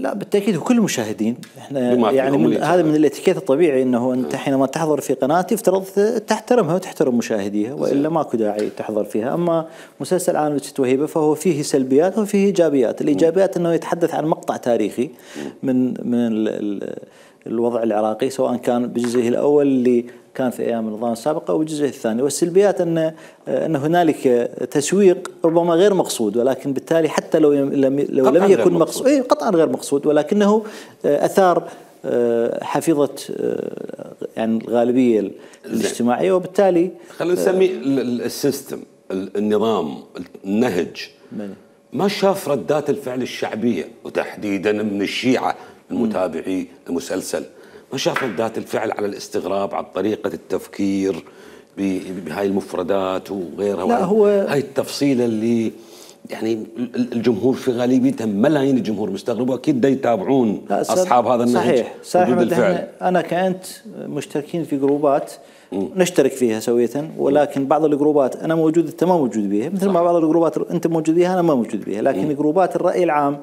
لا بالتاكيد وكل المشاهدين احنا يعني هذا من الاتيكيت الطبيعي، انه انت حينما تحضر في قناه يفترض تحترمها وتحترم مشاهديها، والا ماكو داعي تحضر فيها. اما مسلسل عالم ست وهيبه فهو فيه سلبيات وفيه ايجابيات. الايجابيات انه يتحدث عن مقطع تاريخي من الوضع العراقي، سواء كان بجزئه الاول اللي كان في ايام النظام السابق او بالجزء الثاني. والسلبيات ان هنالك تسويق ربما غير مقصود، ولكن بالتالي حتى لو لم يكن مقصود، قطعا غير مقصود، ولكنه اثار حفيظه يعني الغالبيه الاجتماعيه، وبالتالي خلينا نسميه السيستم، النظام، النهج ما شاف ردات الفعل الشعبيه، وتحديدا من الشيعه المتابعي المسلسل، ما شاف ردات الفعل على الاستغراب، على طريقة التفكير بهاي المفردات وغيرها. لا هو هاي التفصيلة اللي يعني الجمهور في غالبيته ملايين الجمهور مستغرب، واكيد دا يتابعون اصحاب هذا النهج. صحيح الفعل. انا كنت مشتركين في جروبات نشترك فيها سوية، ولكن بعض الجروبات انا موجود انت ما موجود بيها، مثل ما بعض الجروبات انت موجود بيها انا ما موجود بيها. لكن جروبات الرأي العام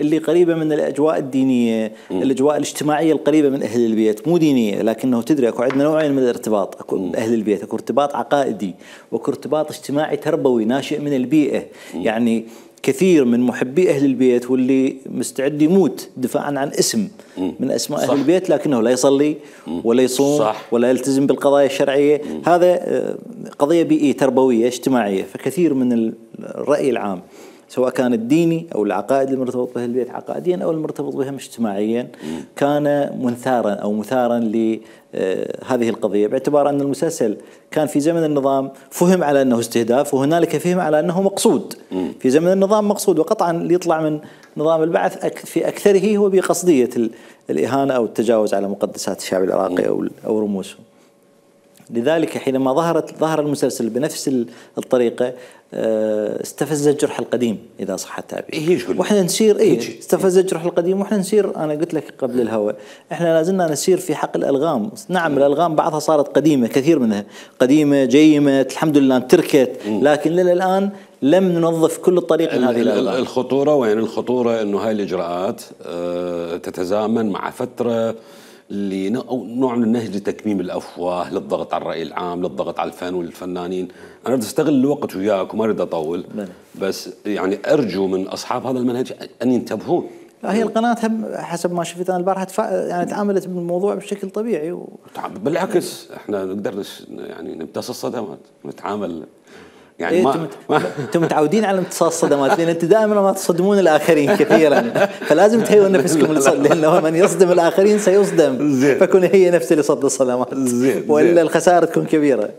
اللي قريبه من الاجواء الدينيه، الاجواء الاجتماعيه القريبه من اهل البيت، مو دينيه لكنه تدري اكو عندنا نوعين من الارتباط، اكو اهل البيت، اكو ارتباط عقائدي واكو ارتباط اجتماعي تربوي ناشئ من البيئه. يعني كثير من محبي اهل البيت واللي مستعد يموت دفاعا عن اسم من اسماء اهل البيت، لكنه لا يصلي ولا يصوم ولا يلتزم بالقضايا الشرعيه. هذا قضيه بيئيه تربويه اجتماعيه. فكثير من الراي العام سواء كان الديني او العقائد المرتبط به البيت عقائديا او المرتبط بهم اجتماعيا كان منثارا او مثارا لهذه القضيه، باعتبار ان المسلسل كان في زمن النظام فهم على انه استهداف، وهنالك فهم على انه مقصود. في زمن النظام مقصود، وقطعا اللي يطلع من نظام البعث في اكثره هو بقصديه الاهانه او التجاوز على مقدسات الشعب العراقي او رموزه. لذلك حينما ظهر المسلسل بنفس الطريقه استفز الجرح القديم اذا صح التعبير. واحنا نسير استفز الجرح القديم، واحنا نسير. انا قلت لك قبل الهواء احنا لازلنا نسير في حق الالغام. نعم الالغام بعضها صارت قديمه، كثير منها قديمه جيمت الحمد لله امتركت، لكن للان لم ننظف كل الطريق من هذه الالغام. الخطوره وين؟ الخطوره انه هاي الاجراءات تتزامن مع فتره نوع من النهج لتكميم الافواه، للضغط على الراي العام، للضغط على الفن والفنانين. انا اريد استغل الوقت وياك وما اريد اطول، بس يعني ارجو من اصحاب هذا المنهج ان ينتبهون. هي القناه حسب ما شفت انا البارحه يعني تعاملت بالموضوع بشكل طبيعي بالعكس احنا نقدر يعني نمتص الصدمات ونتعامل. يعني إيه انتم متعودين على امتصاص الصدمات، لان انتم دائما ما تصدمون الاخرين كثيرا، فلازم تهيئوا نفسكم لانه من يصدم الاخرين سيصدم، فكن هي نفس اللي صد الصدمات، والا الخساره تكون كبيره.